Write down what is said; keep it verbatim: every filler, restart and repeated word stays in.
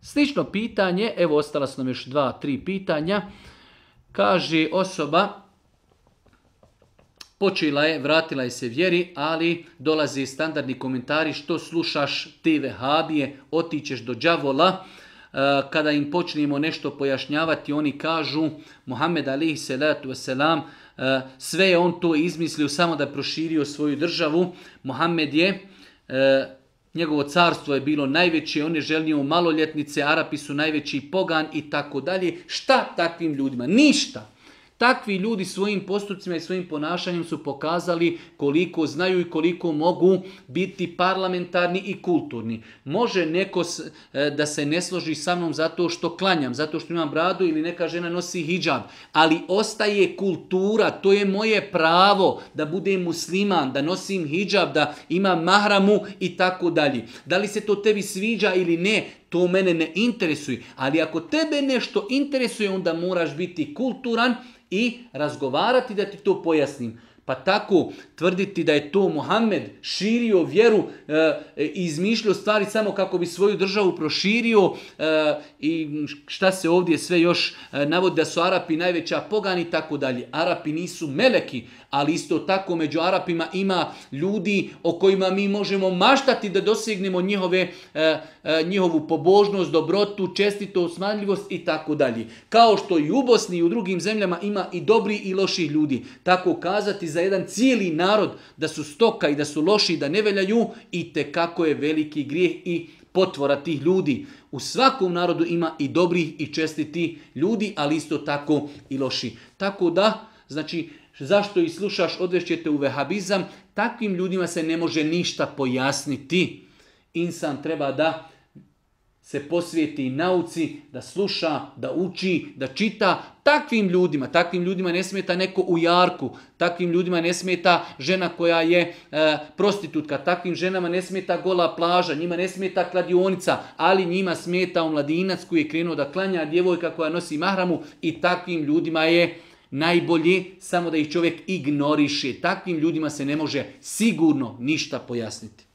Slično pitanje, evo ostala su nam još dva, tri pitanja. Kaže osoba, počela je, vratila je se vjeri, ali dolaze standardni komentari, što slušaš te vehabije, otićeš do đavola. Kada im počnemo nešto pojašnjavati, oni kažu, Muhammed alejhi salatu vesselam, sve je on to izmislio samo da proširio svoju državu. Muhammed je, njegovo carstvo je bilo najveće, on je želio maloljetnice, Arapi su najveći pogan i tako dalje. Šta takvim ljudima? Ništa. Takvi ljudi svojim postupcima i svojim ponašanjem su pokazali koliko znaju i koliko mogu biti parlamentarni i kulturni. Može neko da se ne složi sa mnom zato što klanjam, zato što imam bradu ili neka žena nosi hidžab, ali ostaje kultura, to je moje pravo da budem musliman, da nosim hidžab, da imam mahramu i tako dalje. Da li se to tebi sviđa ili ne, to mene ne interesuje, ali ako tebe nešto interesuje, onda moraš biti kulturan i razgovarati da ti to pojasnim. Pa tako tvrditi da je to Muhammed širio vjeru i e, izmišljao stvari samo kako bi svoju državu proširio e, i šta se ovdje sve još e, navodi da su Arapi najveća pogani i tako dalje. Arapi nisu meleki, ali isto tako među Arapima ima ljudi o kojima mi možemo maštati da dosegnemo njihove, e, e, njihovu pobožnost, dobrotu, čestitost, smanljivost i tako dalje. Kao što i u Bosni i u drugim zemljama ima i dobri i loši ljudi. Tako kazati za jedan cijeli narod da su stoka i da su loši, da ne veljaju, i tekako je veliki grijeh i potvora tih ljudi. U svakom narodu ima i dobrih i čestiti ljudi, ali isto tako i loši. Tako da, znači, zašto i slušaš, odvešćete u vehabizam, takvim ljudima se ne može ništa pojasniti. Insan treba da se posvijeti nauci, da sluša, da uči, da čita. Takvim ljudima, takvim ljudima ne smeta neko u jarku, takvim ljudima ne smeta žena koja je e, prostitutka, takvim ženama ne smeta gola plaža, njima ne smeta kladionica, ali njima smeta omladinac koji je krenuo da klanja, djevojka koja nosi mahramu, i takvim ljudima je najbolje samo da ih čovjek ignoriše. Takvim ljudima se ne može sigurno ništa pojasniti.